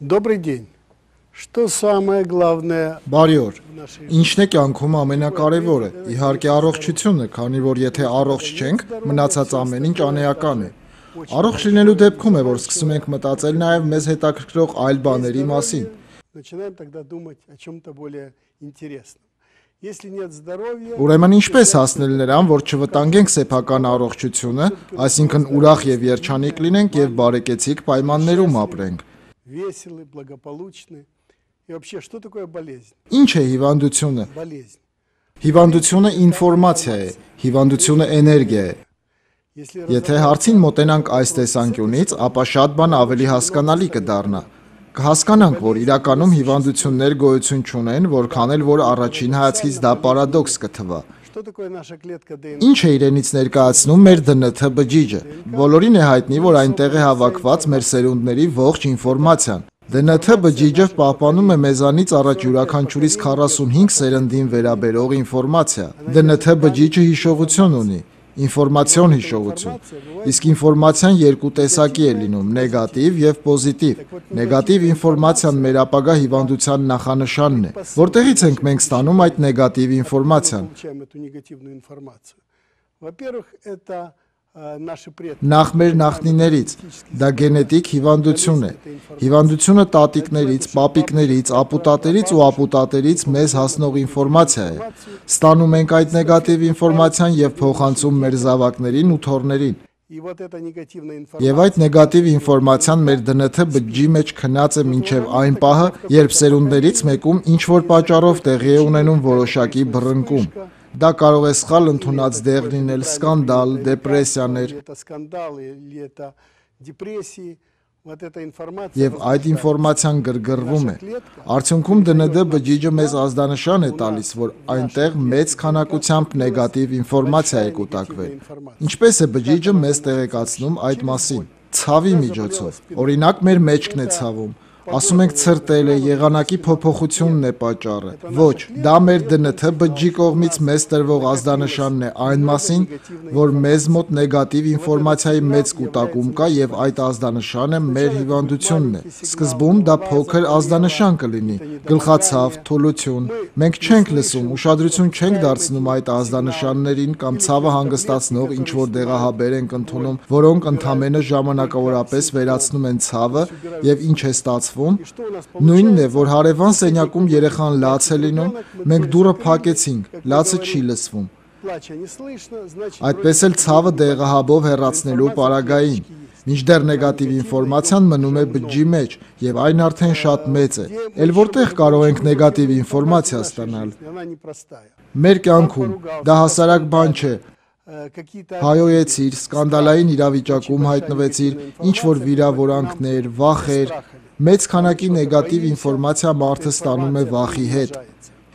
Добрый день. Что самое главное? Բարի օր։ Ինչն է կյանքում ամենակարևորը։ Իհարկե առողջությունը, քանի որ եթե առողջ չենք, մնացած ամեն ինչ անեական է։ Առողջ լինելու դեպքում է, որ սկսում ենք մտածել նաև մեզ հետաքրքրող այլ բաների մասին։ Начинаем тогда думать о чем-то более интересном. Если нет здоровья, Ուրեմն ինչպես հասնել նրան, որ չվտանգենք սեփական առողջությունը, այսինքն ուրախ եւ երջանիկ լինենք եւ բարեկեցիկ պայմաններում ապրենք։ веселы, благополучны. И вообще, что такое болезнь? Ինչ է հիվանդությունը։ Болезнь. Հիվանդությունը ինֆորմացիա է, հիվանդությունը էներգիա է։ Если Եթե հարցին մոտենանք այս տեսանկյունից, ապա շատ բան ավելի հասկանալի կդառնա։ Կհասկանանք, որ իրականում հիվանդություններ գոյություն չունեն, որքան էլ որ առաջին հայացքից դա պարադոքս կթվա։ что такое наша клетка ДНК? Ինչ է իրենից ներկայացնում մեր ԴՆԹ բջիջը։ Բոլորին է հայտնի, որ այնտեղ է հավաքված մեր սերունդների ողջ ինֆորմացիան։ ԴՆԹ բջիջը պահպանում է մեզանից առաջ յուրաքանչյուրից 45 սերնդին վերաբերող ինֆորմացիա։ ԴՆԹ բջիջը հիշողություն ունի, ինֆորմացիոն հիշողություն։ Իսկ ինֆորմացիան երկու տեսակի է լինում՝ նեգատիվ եւ պոզիտիվ։ Նեգատիվ ինֆորմացիան մեր ապագա հիվանդության նախանշանն է։ Որտեղից ենք մենք ստանում այդ նեգատիվ ինֆորմացիան։ Получаем эту негативную информацию. Во-первых, это наши предки. Նախ մեր նախնիներից, դա գենետիկ հիվանդություն է։ Հիվանդությունը տատիկներից, պապիկներից, ապուտատերից ու ապուտատերից մեզ հասնող ինֆորմացիա է։ Ստանում ենք այդ նեգատիվ ինֆորմացիան եւ փոխանցում մեր զավակներին ու թոռներին։ И вот эта негативная Եվ информация այդ նեգատիվ ինֆորմացիան մեր ԴՆԹ բջջի մեջ քնած է մինչև այն պահը, երբ սերունդներից мեկում ինչ որ պատճառով տեղի է ունենում որոշակի բռնկում։ Դա կարող է սխալ ընդունած դեղ լինել, սկանդալ, դեպրեսիաներ, или это скандалы, или это депрессии. Вот эта информация եւ այդ ինֆորմացիան գրգռվում է։ Արդյունքում ԴՆԴ բջիջը մեզ ազդանշան է տալիս, որ այնտեղ մեծ քանակությամբ նեգատիվ ինֆորմացիա է կուտակվել։ Ինչպես է բջիջը մեզ տեղեկացնում այդ մասին։ Ցավի միջոցով։ Օրինակ մեր մեջքն է ցավում։ Ասում ենք ցրտել է, եղանակի փոփոխությունն է պատճառը։ Ոչ, դա մեր ԴՆԹ բջջի կողմից մեզ տրվող ազդանշանն է այն մասին, որ մեզ մոտ նեգատիվ ինֆորմացիայի մեծ կուտակում կա եւ այդ ազդանշանը մեր հիվանդությունն է։ Սկզբում դա փոքր ազդանշան կլինի՝ գլխացավ, թուլություն։ Մենք չենք լսում, ուշադրություն չենք դարձնում այդ ազդանշաններին կամ ցավը հանգստացնող ինչ որ դեղահաբեր ենք ընդունում, որոնք ընդհանրապես ժամանակավորապես վերացնում են ցավը եւ ինչ է ստացվում։ Նույնն է, որ հարևան սենյակում երեխան լաց է լինում, մենք դուռը փակեցինք, լացը չի լսվում։ плача не слышно, значит, Այդպես էլ ցավը դեղահաբով հեռացնելու պարագային։ Մինչդեռ նեգատիվ ինֆորմացիան մնում է բջջի մեջ եւ այն արդեն շատ մեծ է։ Էլ որտեղ կարող ենք նեգատիվ ինֆորմացիա ստանալ։ она непростая. Մեր կյանքում դա հասարակ բան չէ։ Какие-то Հայոյեցիր, սկանդալային իրավիճակում հայտնվեցիր, ինչ որ վիրավորանքներ, վախեր, մեծ քանակի նեգատիվ ինֆորմացիա մարդը ստանում է վախի հետ։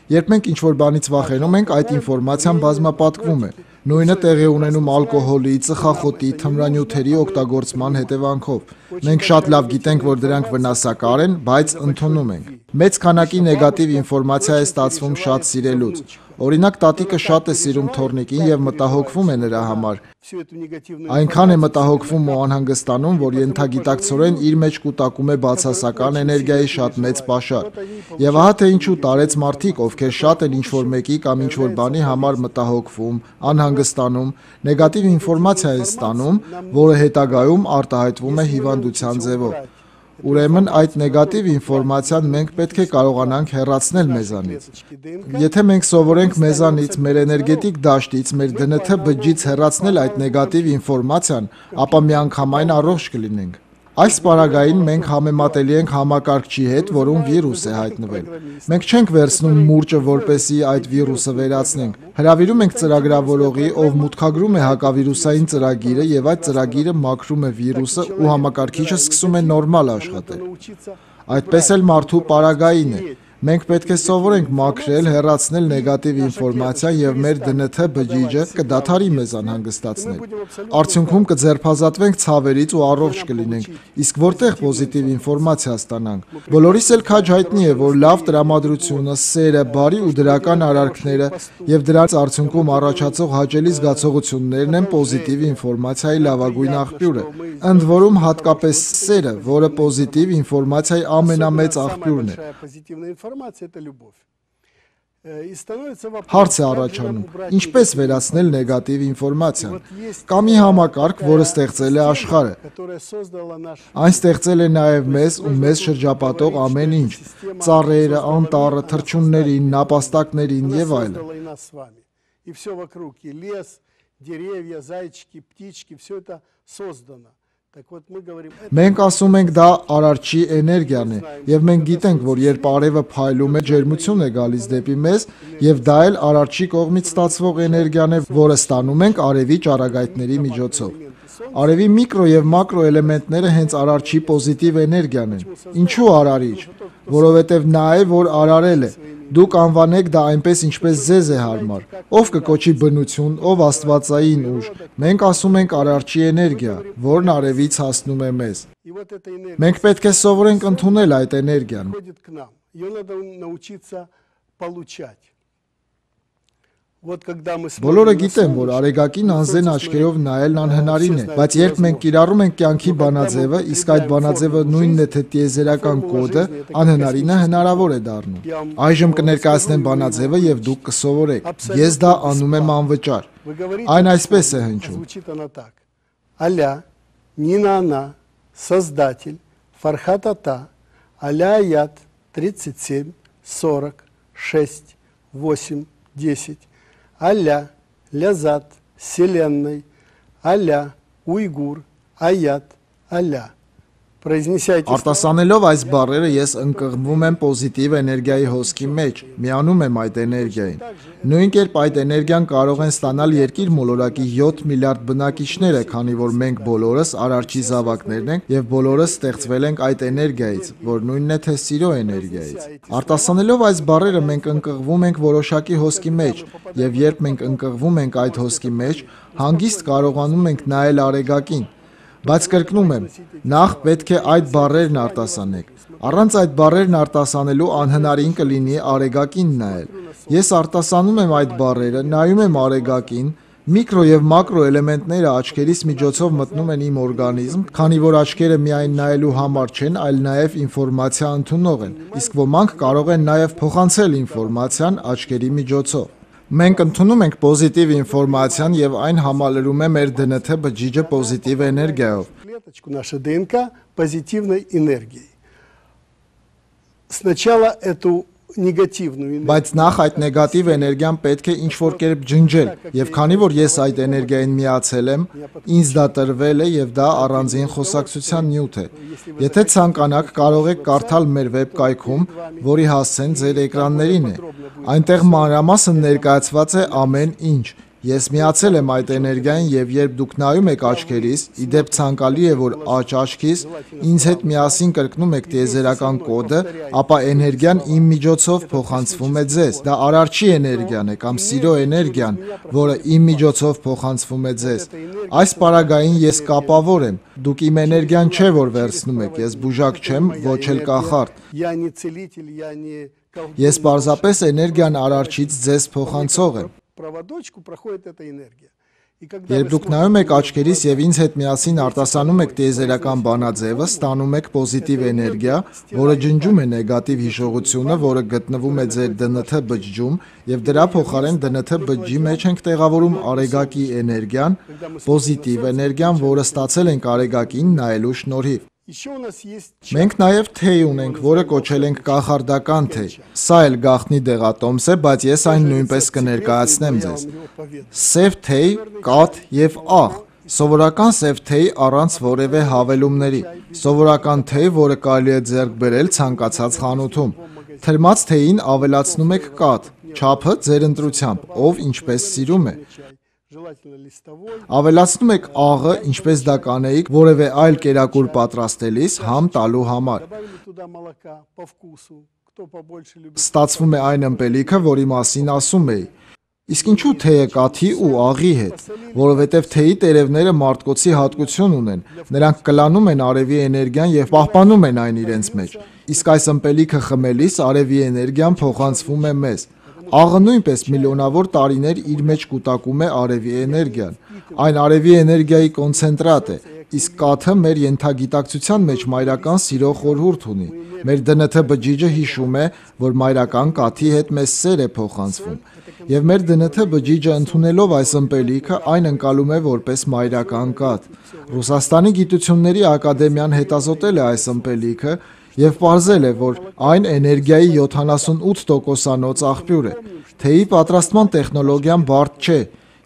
Երբ մենք ինչ-որ բանից վախենում ենք, այդ ինֆորմացիան բազմապատկվում է։ Նույնը տեղի ունենում ալկոհոլի, ծխախոտի, թմրանյութերի օգտագործման հետևանքով։ Մենք շատ լավ գիտենք, որ դրանք վնասակար են, բայց ընդունում ենք։ Մեծ քանակի նեգատիվ ինֆորմացիա է ստացվում շատ սիրելուց։ Օրինակ, տատիկը շատ է սիրում թոռնիկին եւ մտահոգվում է նրա համար։ всю эту негативную Այնքան է մտահոգվում ու անհանգստանում, որ ենթագիտակցորեն իր մեջ կուտակում է բացասական էներգիայի շատ մեծ պաշար։ Եվ ահա թե ինչու տարեց մարդիկ, ովքեր շատ են ինչ-որ մեկի կամ ինչ-որ բանի համար մտահոգվում, անհանգստանում, նեգատիվ ինֆորմացիա են ստանում, որը հետագայում արտահայտվում է հիվանդության ձևով։ Ուրեմն այդ նեգատիվ ինֆորմացիան մենք պետք է կարողանանք հեռացնել մեզանից։ Եթե մենք սովորենք մեզանից, մեր էներգետիկ դաշտից, մեր ԴՆԹ բջջից հեռացնել այդ նեգատիվ ինֆորմացիան, ապա միանգամայն առողջ կլինենք։ Այս պարագային մենք համեմատելի ենք համակարգչի հետ, որում վիրուս է հայտնվել։ Մենք չենք վերցնում մուրճը, որպեսզի այդ վիրուսը վերացնենք։ Հրավիրում ենք ծրագրավորողի, ով մուտքագրում է հակավիրուսային ծրագիրը եւ այդ ծրագիրը մաքրում է վիրուսը ու համակարգիչը սկսում է նորմալ աշխատել։ Այդպես էլ մարդու պարագային է։ Մենք պետք է սովորենք մաքրել, հեռացնել նեգատիվ ինֆորմացիա եւ մեր ԴՆԹ բջիջը կդադարի մեզ անհանգստացնել։ Արդյունքում կձերբազատվենք ցավերից ու առողջ կլինենք, իսկ որտեղ պոզիտիվ ինֆորմացիա ստանանք։ Բոլորիս էլ քաջ հայտնի է, որ լավ տրամադրությունը, սերը, բարի ու դրական արարքները եւ դրանց արդյունքում առաջացող հաճելի զգացողություններն են պոզիտիվ ինֆորմացիայի լավագույն աղբյուրը։ Ընդ որում հատկապես սերը, որը պոզիտիվ ինֆորմացիայի ամենամեծ աղբյուրն է։ Հարց է առաջանում, ինչպես վերացնել նեգատիվ ինֆորմացիան։ Կա մի համակարգ, որը ստեղծել է աշխարհը։ Այն ստեղծել է նաև մեզ ու մեզ շրջապատող ամեն ինչ՝ ծառերը, անտառը, թռչուններին, նապաստակներին եւ այլն։ Մենք ասում ենք դա արարչի էներգիան է, եւ մենք գիտենք, որ երբ արևը փայլում է, ջերմություն է գալիս դեպի մեզ, եւ դա էլ արարչի կողմից ստացվող էներգիան է, որը ստանում ենք արևի ճառագայթների միջոցով։ Արևի միկրո եւ մակրո էլեմենտները հենց արարչի պոզիտիվ էներգիան են։ Ինչու արարիչ? Որովհետեւ նա է, որ արարել է։ Դուք անվանեք դա այնպես, ինչպես ձեզ է հարմար։ Ով կկոչի բնություն, ով աստվածային ուժ։ Մենք ասում ենք արարչի էներգիա, որն արևից հասնում է մեզ։ Մենք պետք է սովորենք ընդունել այդ էներգիան։ Բոլորը գիտեն, որ արեգակին անզեն աչքերով նայելն անհնարին է, բայց երբ մենք կիրառում ենք կյանքի բանաձևը, իսկ այդ բանաձևը նույնն է թե տիեզերական կոդը, անհնարինը հնարավոր է դառնում։ Այժմ կներկայացնեմ բանաձևը եւ դուք կսովորեք։ Ես դա անում եմ անվճար։ Այն այսպես է հնչում. Аля, Нина она, Создатель, Фархат Ата, Аля Аят, 37, 40, 6, 8, 10. Аля, Лязат, Вселенной, Аля, Уйгур, Аят, Аля. Արտասանելով այս բառերը ես ընկղմվում եմ պոզիտիվ էներգիայի հոսքի մեջ, միանում եմ այդ էներգիային։ Նույն կերպ այդ էներգիան կարող են ստանալ երկիր մոլորակի 7 միլիարդ բնակիչները, քանի որ մենք բոլորս արարչի զավակներն ենք եւ բոլորս ստեղծվել ենք այդ էներգիայից, որ նույնն է թե սիրո էներգիայից։ Արտասանելով այս բառերը մենք ընկղվում ենք որոշակի հոսքի մեջ, եւ երբ մենք ընկղվում ենք այդ հոսքի մեջ, հանգիստ կարողանում ենք նայել արեգակին։ Բայց կրկնում եմ, նախ պետք է այդ բառերն արտասանեք։ Առանց այդ բառերն արտասանելու անհնարին կլինի արեգակին նայել։ Ես արտասանում եմ այդ բառերը, նայում եմ արեգակին, միկրո եւ մակրո էլեմենտները աչքերիս միջոցով մտնում են իմ օրգանիզմ, քանի որ աչքերը միայն նայելու համար չեն, այլ նաեւ ինֆորմացիա ընդունող են։ Իսկ ոմանք կարող են նաեւ փոխանցել ինֆորմացիան աչքերի միջոցով։ Մենք ընդունում ենք պոզիտիվ ինֆորմացիան եւ այն համալրում է մեր ԴՆԹ բջիջը պոզիտիվ էներգիայով։ Наша ДНК позитивной энергией. Сначала эту негативную энергию. Բայց նախ այդ նեգատիվ էներգիան պետք է ինչ-որ կերպ ջնջել, եւ քանի որ ես այդ էներգիային միացել եմ, ինձ դա տրվել է եւ դա առանձին խոսակցության նյութ է։ Եթե ցանկանաք, կարող եք կարդալ մեր վեբկայքում, որի հասցեն ձեր էկրաններին է։ Այնտեղ մանրամասն ներկայացված է ամեն ինչ։ Ես միացել եմ այդ էներգիային եւ երբ դուք նայում եք աչքերիս, իդեպ ցանկալի է, որ աջ աչքիս ինձ հետ միասին կրկնում եք տիեզերական կոդը, ապա էներգիան իմ միջոցով փոխանցվում է ձեզ։ Դա արարչի էներգիան է կամ սիրո էներգիան, որը իմ միջոցով փոխանցվում է ձեզ։ Այս պարագային ես կապավոր եմ։ Դուք իմ էներգիան չէ, որ վերցնում եք, ես բուժակ չեմ, ոչ էլ կախարդ։ Ես պարզապես էներգիան արարչից ձեզ փոխանցող եմ։ Проводочку проходит эта энергия. Երբ դուք նայում եք աչքերիս եւ ինձ հետ միասին արտասանում եք տիեզերական բանաձևը, ստանում եք պոզիտիվ էներգիա, որը ջնջում է նեգատիվ հիշողությունը, որը գտնվում է ձեր ԴՆԹ բջջում, եւ դրա փոխարեն ԴՆԹ բջջի մեջ ենք տեղավորում արեգակի էներգիան, պոզիտիվ էներգիան, որը ստացել ենք արեգակին նայելու շնորհիվ։ Մենք նաև թեյ ունենք, որը կոչել ենք կախարդական թեյ։ Սա էլ գաղտնի դեղատոմս է, բայց ես այն նույնպես կներկայացնեմ ձեզ։ Սև թեյ, կաթ եւ աղ։ Սովորական սև թեյ առանց որևէ հավելումների։ Սովորական թեյ, որը կարելի է ձեռք բերել ցանկացած խանութում։ Թրմած թեյին ավելացնում եք կաթ, չափը ձեր ընտրությամբ, ով ինչպես սիրում է։ Ավելացնում եք աղը, ինչպես դա կանեիք որևէ այլ կերակուր պատրաստելիս համ տալու համար։ Ստացվում է այն ըմպելիքը, որի մասին ասում էի։ Իսկ ինչու թեյը կաթի ու աղի հետ, որովհետև թեյի տերևները մարտկոցի հատկություն ունեն, նրանք կլանում են արևի էներգիան եւ պահպանում են այն իրենց մեջ, իսկ այս ըմպելիքը խմելիս արևի էներգիան փոխանցվում է մեզ։ Աղը նույնպես միլիոնավոր տարիներ իր մեջ կուտակում է արևի էներգիան, այն արևի էներգիայի կոնցենտրատ է, իսկ կաթը մեր ենթագիտակցության մեջ մայրական սիրո խորհուրդ ունի։ Մեր ԴՆԹ բջիջը հիշում է, որ մայրական կաթի հետ մեզ սեր է փոխանցվում, եւ մեր ԴՆԹ բջիջը ընդունելով այս ըմպելիքը այն ընկալում է որպես մայրական կաթ։ Ռուսաստանի գիտությունների ակադեմիան հետազոտել է այս ըմպելիքը եւ պարզել է, որ այն էներգիայի 78%-անոց աղբյուր է։ Թեյի պատրաստման տեխնոլոգիան բարդ չէ։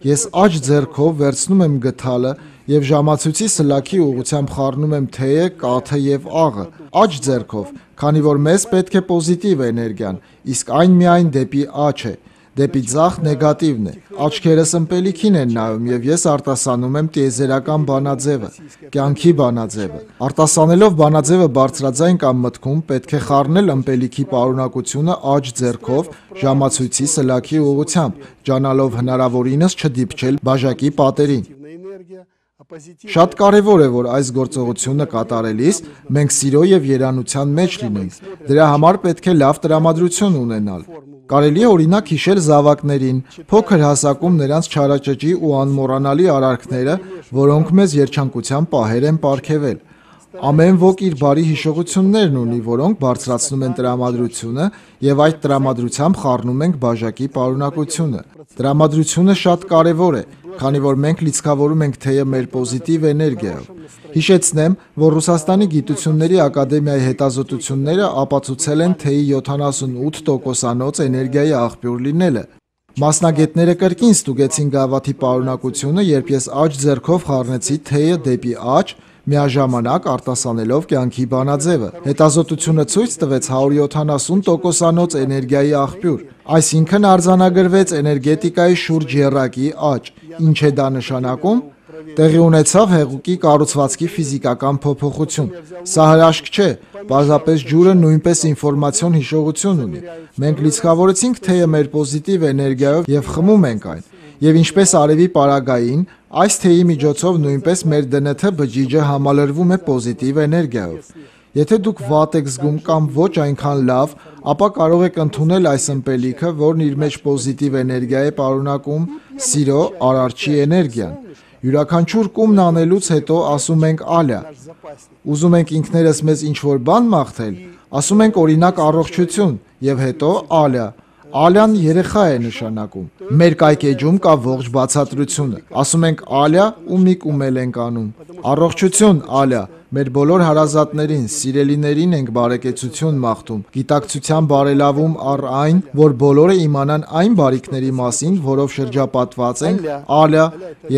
Ես աջ ձեռքով վերցնում եմ գդալը եւ ժամացույցի սլաքի ուղղությամբ խառնում եմ թեյը, կաթը եւ աղը։ Աջ ձեռքով, քանի որ մեզ պետք է պոզիտիվ էներգիան, իսկ այն միայն դեպի աջ է։ Դեպի ձախ նեգատիվն է։ Աչքերս ըմպելիքին են նայում եւ ես արտասանում եմ տիեզերական բանաձևը, կյանքի բանաձևը։ Արտասանելով բանաձևը բարձրաձայն կամ մտքում պետք է խառնել ըմպելիքի պարունակությունը աջ ձեռքով ժամացույցի սլաքի ուղղությամբ, ջանալով հնարավորինս չդիպչել բաժակի պատերին։ Շատ կարևոր է, որ այս գործողությունը կատարելիս մենք սիրո եւ երանության մեջ լինենք։ Դրա համար պետք է լավ տրամադրություն ունենալ։ Կարելի է օրինակ հիշել զավակներին, փոքր հասակում նրանց չարաճճի ու անմոռանալի արարքները, որոնք մեզ երջանկության պահեր են պարգևել։ Ամեն ոք իր բարի հիշողություններն ունի, որոնք բարձրացնում են տրամադրությունը եւ այդ տրամադրությամբ խառնում ենք բաժակի պարունակությունը։ Տրամադրությունը շատ կարևոր է, քանի որ մենք լիցքավորում ենք թեյը մեր պոզիտիվ էներգիայով։ Հիշեցնեմ, որ Ռուսաստանի գիտությունների ակադեմիայի հետազոտությունները ապացուցել են թեյի 78%-անոց էներգիայի աղբյուր լինելը։ Մասնագետները կրկին ստուգեցին գավաթի պարունակությունը, երբ ես աջ ձեռքով խառնեցի թեյը դեպի աջ, միաժամանակ արտասանելով կյանքի բանաձևը։ Հետազոտությունը ցույց տվեց 170%-անոց էներգիայի աղբյուր, այսինքն արձանագրվեց էներգետիկայի շուրջ եռակի աճ։ Ինչ է դա նշանակում։ Տեղի ունեցավ հեղուկի կառուցվածքի ֆիզիկական փոփոխություն։ Սա հրաշք չէ, պարզապես ջուրը նույնպես ինֆորմացիոն հիշողություն ունի։ Մենք լիցքավորեցինք թեյը մեր պոզիտիվ էներգիայով եւ խմում ենք այն։ Եվ ինչպես արևի պարագային, այս թեյի միջոցով նույնպես մեր ԴՆԹ բջիջը համալրվում է պոզիտիվ էներգիայով։ Եթե դուք վատ եք զգում կամ ոչ այնքան լավ, ապա կարող եք ընդունել այս ըմպելիքը, որն իր մեջ պոզիտիվ էներգիա է պարունակում, սիրո, արարչի էներգիան։ Յուրաքանչյուր կումն անելուց հետո ասում ենք ալյա։ Ուզում ենք ինքներս մեզ ինչ-որ բան մաղթել, ասում ենք օրինակ առողջություն եւ հետո ալյա։ Ալյան երեխա է նշանակում։ Մեր կայքեջում կա ողջ բացատրությունը։ Ասում ենք ալյա ու մի կումել ենք անում։ Առողջություն ալյա։ Մեր բոլոր հարազատներին, սիրելիներին ենք բարեկեցություն մաղթում, գիտակցության բարելավում առ այն, որ բոլորը իմանան այն բարիքների մասին, որով շրջապատված ենք, ալյա,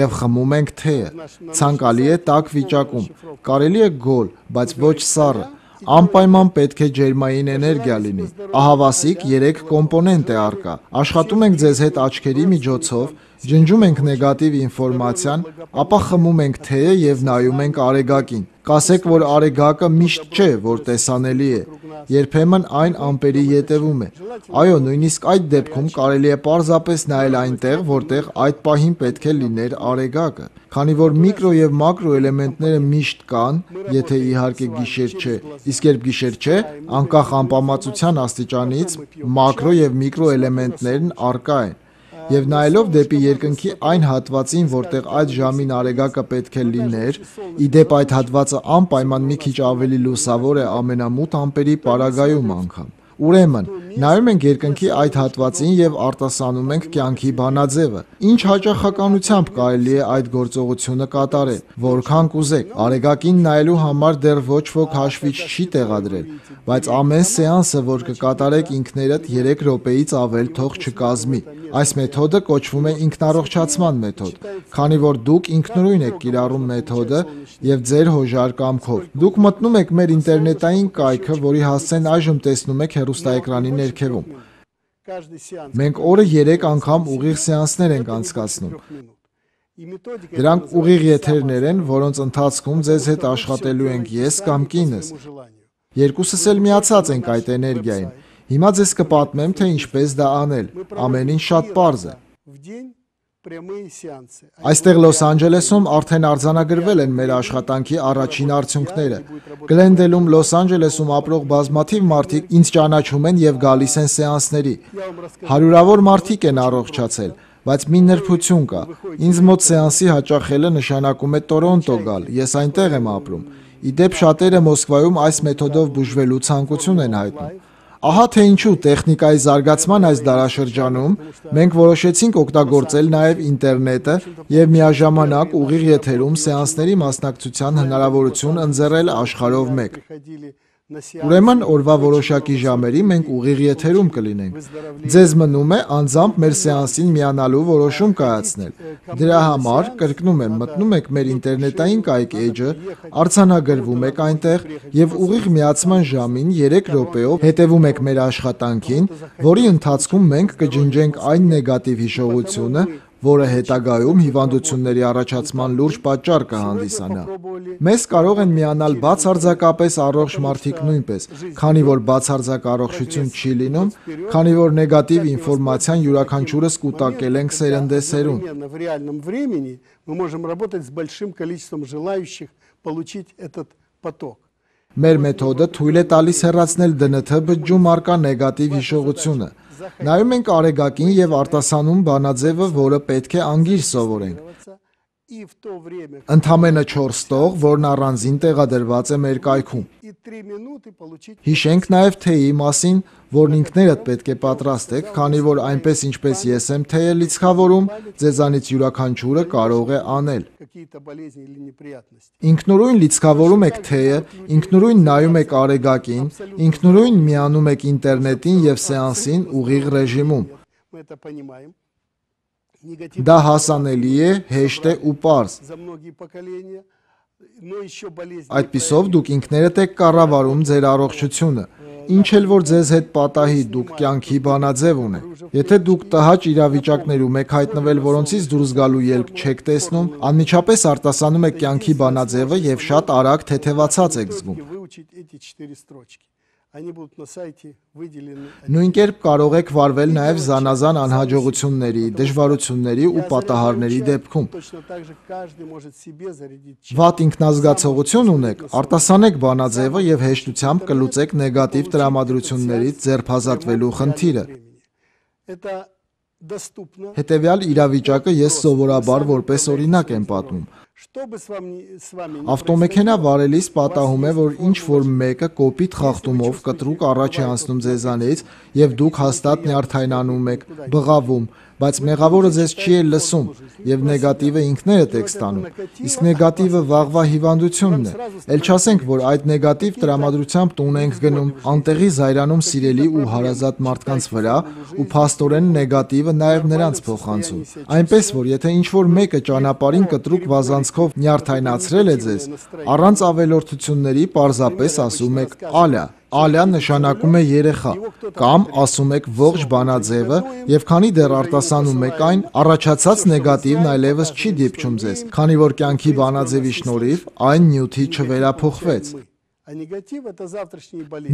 եւ խմում ենք թեյը։ Ցանկալի է տաք վիճակում։ Կարելի է գոլ, բայց ոչ սառը։ Անպայման պետք է ջերմային էներգիա լինի։ Ահավասիկ 3 կոմպոնենտ է առկա։ Աշխատում ենք ձեզ հետ աչքերի միջոցով, ջնջում ենք նեգատիվ ինֆորմացիան, ապա խմում ենք թեյը եւ նայում ենք արեգակին։ Կասեք, որ արեգակը միշտ չէ, որ տեսանելի է։ Երբեմն այն ամպերի ետևում է։ Այո, նույնիսկ այդ դեպքում կարելի է պարզապես նայել այնտեղ, որտեղ այդ պահին պետք է լիներ արեգակը։ Քանի որ միկրո եւ մակրո էլեմենտները միշտ կան, եթե իհարկե գիշեր չէ, իսկ երբ գիշեր չէ, անկախ անպամացության աստիճանից, մակրո եւ միկրո էլեմենտներն առկա են։ Եվ նայելով դեպի երկնքի այն հատվածին, որտեղ այդ ժամին արեգակը պետք է լիներ, ի դեպ այդ հատվածը անպայման մի քիչ ավելի լուսավոր է ամենամութ ամպերի պարագայում անգամ։ Ուրեմն, նայում ենք երկնքի այդ հատվածին եւ արտասանում ենք կյանքի բանաձևը։ Ինչ հաճախականությամբ կարելի է այդ գործողությունը կատարել, որքան կուզեք։ Արեգակին նայելու համար դեռ ոչ ոք հաշվիչ չի տեղադրել, բայց ամեն սեանսը, որ կկատարեք ինքներդ 3 րոպեից ավել թող չկազմի։ Այս մեթոդը կոչվում է ինքնառողջացման մեթոդ, քանի որ դուք ինքնուրույն եք կիրառում մեթոդը եւ ձեր հոժար կամքով։ Դուք մտնում եք մեր ինտերնետային կայքը, որի հասցեն այժմ տեսնում եք հեռուստաէկրանի ներքևում։ Մենք օրը 3 անգամ ուղիղ սեանսներ ենք անցկացնում։ Դրանք ուղիղ եթերներ են, որոնց ընթացքում ձեզ հետ աշխատելու ենք ես կամ կինս։ Երկուսս էլ միացած ենք այդ էներգիային։ Հիմա ձեզ կպատմեմ, թե ինչպես դա անել։ Ամեն ինչ շատ պարզ է։ Այստեղ Լոս Անջելեսում արդեն արձանագրվել են մեր աշխատանքի առաջին արդյունքները։ Գլենդելում, Լոս Անջելեսում ապրող բազմաթիվ մարդիկ ինձ ճանաչում են եւ գալիս են սեանսների։ Հարյուրավոր մարդիկ են առողջացել, բայց մի նրբություն կա։ Ինձ մոտ սեանսի հաճախելը նշանակում է Տորոնտո գալ, ես այնտեղ եմ ապրում։ Ի դեպ շատերը Մոսկվայում այս մեթոդով բուժվելու ցանկություն են հայտնում։ Ահա թե ինչու տեխնիկայի զարգացման այս դարաշրջանում մենք որոշեցինք օգտագործել նաև ինտերնետը եւ միաժամանակ ուղիղ եթերում սեանսների մասնակցության հնարավորություն ընձեռել աշխարհով մեկ։ Ուրեմն օրվա որոշակի ժամերի մենք ուղիղ եթերում կլինենք։ Ձեզ մնում է անձամբ մեր սեանսին միանալու որոշում կայացնել։ Դրա համար, կրկնում եմ, մտնում եք մեր ինտերնետային կայք էջը, արձանագրվում եք այնտեղ եւ ուղիղ միացման ժամին 3 րոպեով հետևում եք մեր աշխատանքին, որի ընթացքում մենք կջնջենք այն նեգատիվ հիշողությունը, որը հետագայում հիվանդությունների առաջացման լուրջ պատճառ կհանդիսանա։ Մեզ կարող են միանալ բացարձակապես առողջ մարդիկ նույնպես, քանի որ բացարձակ առողջություն չի լինում, քանի որ նեգատիվ ինֆորմացիան յուրաքանչյուրս կուտակել ենք սերնդեսերուն։ Մեր մեթոդը թույլ է տալիս հեռացնել ԴՆԹ բջջում առկա նեգատիվ հիշողությունը։ Նայում ենք Արեգակին եւ արտասանում բանաձևը, որը պետք է անգիր սովորենք։ Ընդամենը 4 տող, որն առանձին տեղադրված է մեր կայքում։ Հիշենք նաև թեյի մասին, որն ինքներդ պետք է պատրաստեք, քանի որ այնպես ինչպես ես եմ թեյը լիցքավորում, ձեզանից յուրաքանչյուրը կարող է անել։ Ինքնուրույն լիցքավորում եք թեյը, ինքնուրույն նայում եք Արեգակին, ինքնուրույն միանում եք ինտերնետին եւ սեանսին ուղիղ ռեժիմում։ Դա հասանելի է, հեշտ է ու պարզ։ Այդպիսով դուք ինքներդ եք կառավարում ձեր առողջությունը։ Ինչ էլ որ ձեզ հետ պատահի, դուք կյանքի բանաձև ունեք։ Եթե դուք տհաճ իրավիճակներում եք հայտնվել, որոնցից դուրս գալու ելք չեք տեսնում, անմիջապես արտասանում եք կյանքի բանաձևը եւ շատ արագ թեթևացած եք զգում։ Նույն կերպ կարող եք վարվել նաև զանազան անհաջողությունների, դժվարությունների ու պատահարների դեպքում։ Վատ ինքնազգացողություն ունեք, արտասանեք բանաձևը եւ հեշտությամբ կլուծեք նեգատիվ տրամադրություններից ձերբազատվելու խնդիրը։ Հետևյալ իրավիճակը ես սովորաբար որպես օրինակ եմ պատմում։ Ավտոմեքենա վարելիս պատահում է, որ ինչ-որ մեկը կոպիտ խախտումով կտրուկ առաջ է անցնում ձեզանից եւ դուք հաստատ նյարդայնանում եք, բղավում, բայց մեղավորը ձեզ չի էլ լսում եւ նեգատիվը ինքներդ եք ստանում։ Իսկ նեգատիվը վաղվա հիվանդությունն է։ Էլ չասենք, որ այդ նեգատիվ տրամադրությամբ տուն ենք գնում, անտեղի զայրանում սիրելի ու հարազատ մարդկանց վրա ու փաստորեն նեգատիվը նաեւ նրանց փոխանցում։ Այնպես որ եթե ինչ-որ մեկը ճանապարհին կտրուկ վազանցքով նյարդայնացրել է ձեզ, առանց ավելորդությունների պարզապես ասում եք «ալյա»։ Ալյա նշանակում է երեխա, կամ ասում եք ողջ բանաձևը եւ քանի դեռ արտասանում եք այն, առաջացած նեգատիվն այլևս չի դիպչում ձեզ, քանի որ կյանքի բանաձևի շնորհիվ այն նյութի չվերափոխվեց։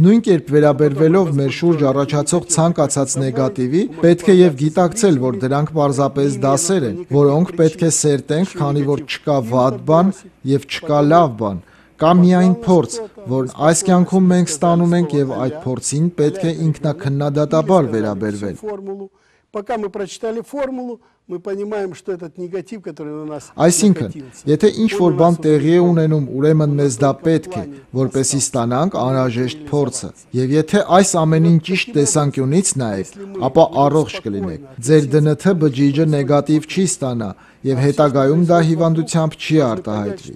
Նույն կերպ վերաբերվելով մեր շուրջ առաջացող ցանկացած նեգատիվի, պետք է եւ գիտակցել, որ դրանք պարզապես դասեր են, որոնք պետք է սերտենք, քանի որ չկա վատ բան եւ չկա լավ բան։ Կա միայն փորձ, որն այս կյանքում մենք ստանում ենք եւ այդ փորձին պետք է ինքնակնդադատաբար վերաբերվել։ Այսինքն, եթե ինչ-որ բան տեղի է ունենում, ուրեմն մեզ դա պետք է, որպեսզի ստանանք անհրաժեշտ փորձը։ Եվ եթե այս ամենին ճիշտ տեսանկյունից նայեք, ապա առողջ կլինեք։ Ձեր ԴՆԹ բջիջը նեգատիվ չի ստանա եւ հետագայում դա հիվանդությամբ չի արտահայտվի։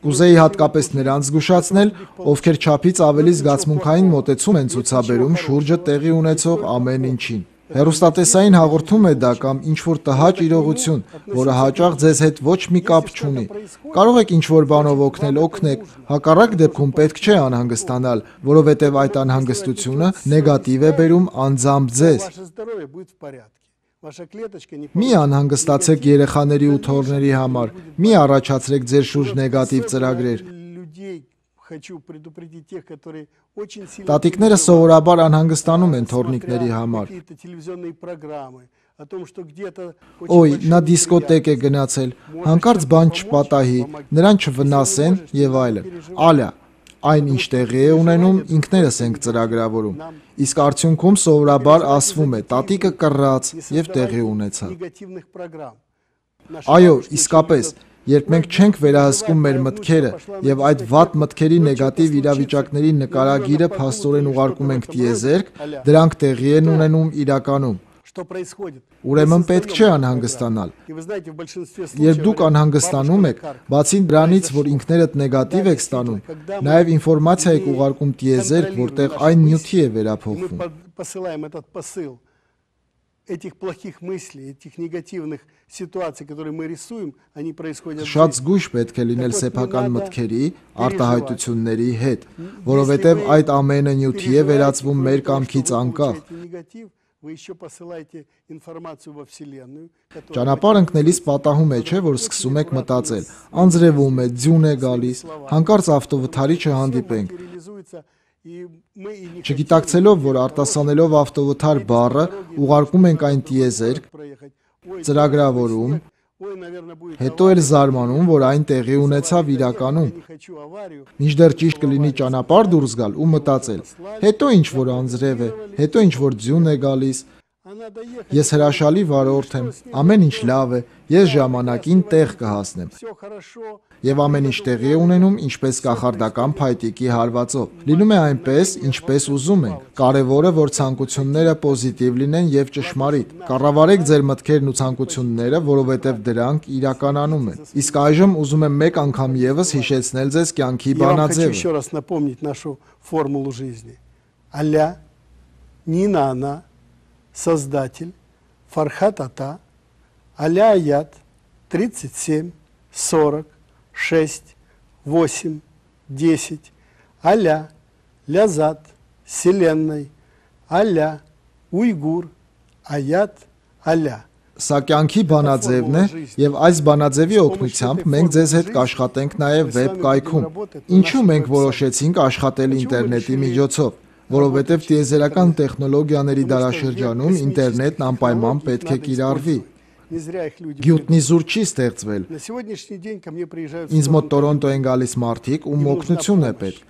Կուզեի հատկապես նրանց զգուշացնել, ովքեր չափից ավելի զգացմունքային մոտեցում են ցուցաբերում շուրջը տեղի ունեցող ամեն ինչին։ Հեռուստատեսային հաղորդում է դա կամ ինչ-որ տհաճ իրողություն, որը հաճախ ձեզ հետ ոչ մի կապ չունի։ Կարող եք ինչ-որ բանով օգնել, օգնեք, հակառակ դեպքում պետք չէ անհանգստանալ, որովհետև այդ անհանգստությունը նեգատիվ է բերում անձամբ ձեզ։ Մի անհանգստացեք երեխաների ու թոռների համար, մի առաջացրեք ձեր շուրջ նեգատիվ ծրագրեր։ Տատիկները սովորաբար անհանգստանում են թոռնիկների համար։ Օй, նա դիսկոտեք է գնացել, հանկարծ բան չպատահի, նրան չվնասեն եւ այլն։ Ալյա, այն ինչ տեղի է ունենում, ինքներս ենք ծրագրավորում։ Իսկ արդյունքում սովորաբար ասվում է՝ տատիկը կռած եւ տեղի ունեցավ։ Այո, իսկապես, երբ մենք չենք վերահսկում մեր մտքերը եւ այդ վատ մտքերի նեգատիվ իրավիճակների նկարագիրը փաստորեն ուղարկում ենք տիեզերք, դրանք տեղի են ունենում իրականում։ Ուրեմն պետք չէ անհանգստանալ։ Երբ դուք անհանգստանում եք, բացի դրանից, որ ինքներդ նեգատիվ եք ստանում, նաև ինֆորմացիա եք ուղարկում տիեզերք, որտեղ այն նյութի է վերափոխվում։ Этих плохих мыслей, этих негативных ситуаций, которые мы рисуем, они происходят. Շատ զգույշ պետք է լինել սեփական մտքերի, արտահայտությունների հետ, որովհետև այդ ամենը նյութի է վերածվում մեր կամքից անկախ։ Ճանապարհ ընկնելիս պատահում է, չէ, որ սկսում եք մտածել, անձրևում է, ձյուն է գալիս, հանկարծ ավտովթարիչը հանդիպենք։ Չգիտակցելով, որ արտասանելով ավտովթար բառը ուղարկում ենք այն տիեզերք, ծրագրավորում, հետո էլ զարմանում, որ այն տեղի ունեցավ իրականում։ Մինչդեռ ճիշտ կլինի ճանապարհ դուրս գալ ու մտածել, հետո ինչ որ անձրև է, հետո ինչ որ ձյուն է գալիս։ Ես հրաշալի վարորդ եմ, ամեն ինչ լավ է, ես ժամանակին տեղ կհասնեմ։ Եվ ամեն ինչ տեղի է ունենում ինչպես կախարդական փայտիկի հարվածով։ Լինում է այնպես, ինչպես ուզում ենք։ Կարևորը, որ ցանկությունները պոզիտիվ լինեն եւ ճշմարիտ։ Կառավարեք ձեր մտքերն ու ցանկությունները, որովհետեւ դրանք իրականանում են։ Իսկ այժմ ուզում եմ մեկ անգամ եւս հիշեցնել ձեզ կյանքի բանաձևը։ Создатель, Фархат Ата, Аля Аят, 37, 40, 6, 8, 10, Аля, Лязат, Вселенной, Аля, Уйгур, Аят, Аля. Սա կյանքի բանաձևն է եւ այս բանաձևի օգնությամբ մենք ձեզ հետ կաշխատենք նաեւ վեբ կայքում։ Ինչու մենք որոշեցինք աշխատել ինտերնետի միջոցով, որովհետև տիեզերական տեխնոլոգիաների դարաշրջանում ինտերնետն անպայման պետք է կիրառվի։ Գյուտնիզուր չի ստեղծվել։ Ինձ մոտ Տորոնտո են գալիս մարդիկ, ում օգնություն է պետք։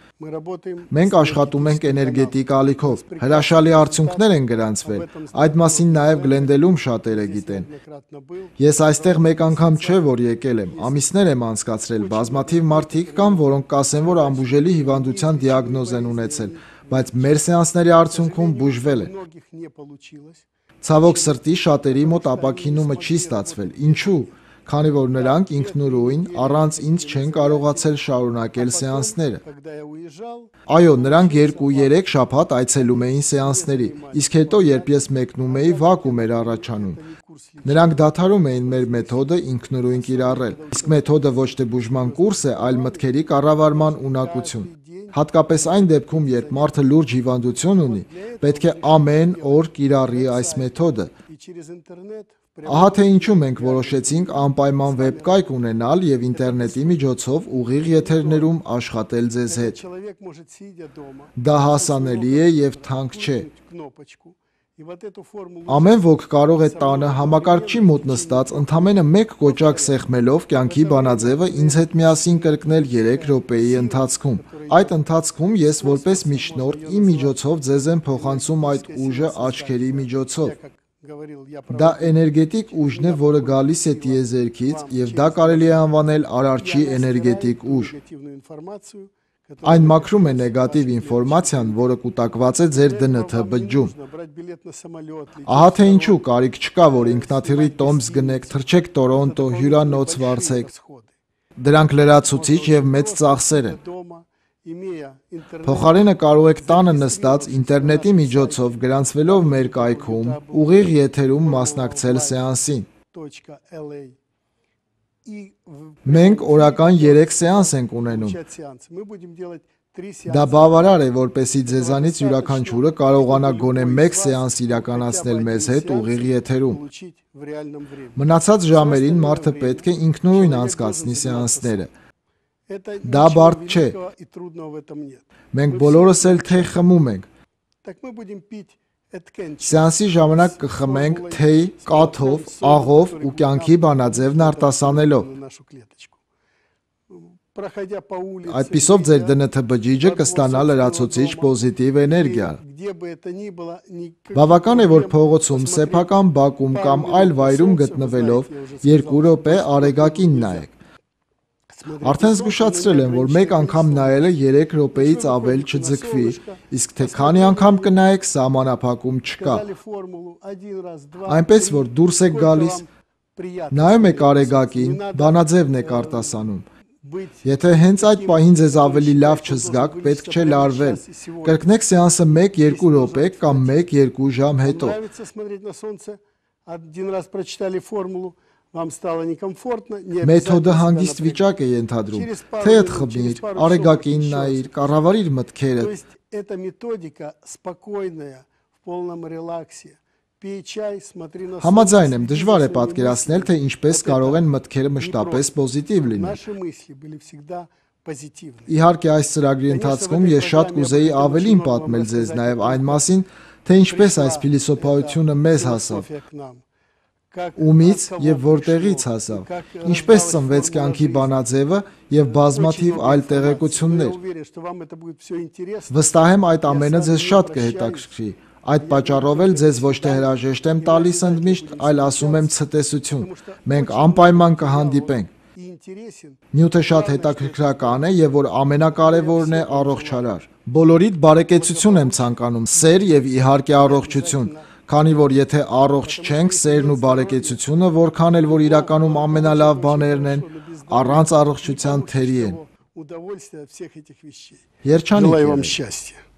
Մենք աշխատում ենք էներգետիկ ալիքով, հրաշալի արդյունքներ են գրանցվել, այդ մասին նաև Գլենդելում շատերը գիտեն։ Ես այստեղ մեկ անգամ չէ, որ եկել եմ, ամիսներ եմ անցկացրել, բազմաթիվ մարդիկ կան, որոնք կասեն, որ անբուժելի հիվանդության դիագնոզ են ունեցել, բայց մեր սեանսների արդյունքում բուժվել են։ Ցավոք սրտի շատերի մոտ ապաքինումը չի ստացվել։ Ինչու՞։ Քանի որ նրանք ինքնուրույն առանց ինձ չեն կարողացել շարունակել սեանսները։ Այո, նրանք 2-3 շաբաթ այցելում էին սեանսների, իսկ հետո երբ ես մեկնում էի, վակուում էր առաջանում։ Նրանք դադարում էին մեր մեթոդը ինքնուրույն կիրառել, իսկ մեթոդը ոչ թե բուժման կուրս է, այլ մտքերի կառավարման ունակություն։ Հատկապես այն դեպքում, երբ մարդը լուրջ հիվանդություն ունի, պետք է ամեն օր կիրառի այս մեթոդը։ Ահա թե ինչու մենք որոշեցինք անպայման վեբկայք ունենալ եւ ինտերնետի միջոցով ուղիղ եթերներում աշխատել ձեզ հետ։ Դա հասանելի է եւ թանկ չէ։ Ամեն ոք կարող է տանը համակարգչի մոտ նստած ընդամենը մեկ կոճակ սեղմելով կյանքի բանաձևը ինձ հետ միասին կրկնել 3 րոպեի ընթացքում։ Այդ ընթացքում ես որպես միջնորդ իմ միջոցով ձեզ եմ փոխանցում այդ ուժը աչքերի միջոցով։ Դա էներգետիկ ուժն է, որը գալիս է տիեզերքից եւ դա կարելի է անվանել արարչի էներգետիկ ուժ։ Այն մաքրում է նեգատիվ ինֆորմացիան, որը կուտակված է ձեր ԴՆԹ բջջում։ Ահա թե ինչու կարիք չկա, որ ինքնաթիռի տոմս գնեք, թռչեք Տորոնտո, հյուրանոց վարձեք։ Դրանք լրացուցիչ եւ մեծ ծախսեր են։ Փոխարենը կարող եք տանը նստած ինտերնետի միջոցով գրանցվելով մեր կայքում ուղիղ եթերում մասնակցել սեանսին։ Մենք օրական 3 սեանս ենք ունենում։ Դա բավարար է, որպեսզի ձեզանից յուրաքանչյուրը կարողանա գոնե 1 սեանս իրականացնել մեզ հետ ուղիղ եթերում։ Մնացած ժամերին մարդը պետք է ինքնուրույն անցկացնի սեանսները։ Դա բարդ չէ։ Մենք բոլորս էլ թեյ խմում ենք։ Սեանսի ժամանակ կխմենք թեյ կաթով, աղով ու կյանքի բանաձևն արտասանելով։ Այդպիսով ձեր ԴՆԹ բջիջը կստանա լրացուցիչ պոզիտիվ էներգիա։ Բավական է, որ փողոցում, սեփական բակում կամ այլ վայրում գտնվելով 2 րոպե արեգակին նայեք։ Արդեն զգուշացրել եմ, որ մեկ անգամ նայելը 3 րոպեից ավել չձգվի, իսկ թե քանի անգամ կնայեք, սահմանափակում չկա։ Այնպես, որ դուրս եք գալիս, նայում եք արեգակին, բանաձևն եք արտասանում։ Եթե հենց այդ պահին ձեզ ավելի լավ չզգաք, պետք չէ լարվել։ Կրկնեք սեանսը 1-2 րոպե կամ 1-2 ժամ հետո։ Մեթոդը հանգիստ վիճակ է ենթադրում։ Թեյդ խմիր, արեգակին նայիր, կառավարիր մտքերդ։ Համաձայն եմ, դժվար է պատկերացնել, թե ինչպես կարող են մտքերը մշտապես պոզիտիվ լինել։ Իհարկե, այս ծրագրի ընթացքում ես շատ կուզեի ավելին պատմել ձեզ նաև այն մասին, թե ինչպես այս փիլիսոփայությունը մեզ հասավ, ումից եւ որտեղից հասավ, ինչպես ծնվեց կյանքի բանաձևը եւ բազմաթիվ այլ տեղեկություններ։ Վստահ եմ, այդ ամենը ձեզ շատ կհետաքրքրի։ Այդ պատճառով էլ ձեզ ոչ թե հրաժեշտ եմ տալիս ընդմիշտ, այլ ասում եմ ցտեսություն։ Մենք անպայման կհանդիպենք։ Նյութը շատ հետաքրքրական է եւ որ ամենակարևորն է առողջարար։ Բոլորիդ բարեկեցություն եմ ցանկանում, սեր եւ իհարկե առողջություն, քանի որ եթե առողջ չենք, սերն ու բարեկեցությունը, որքան էլ որ իրականում ամենալավ բաներն են, առանց առողջության թերի են։ Երջանիկ եղեք։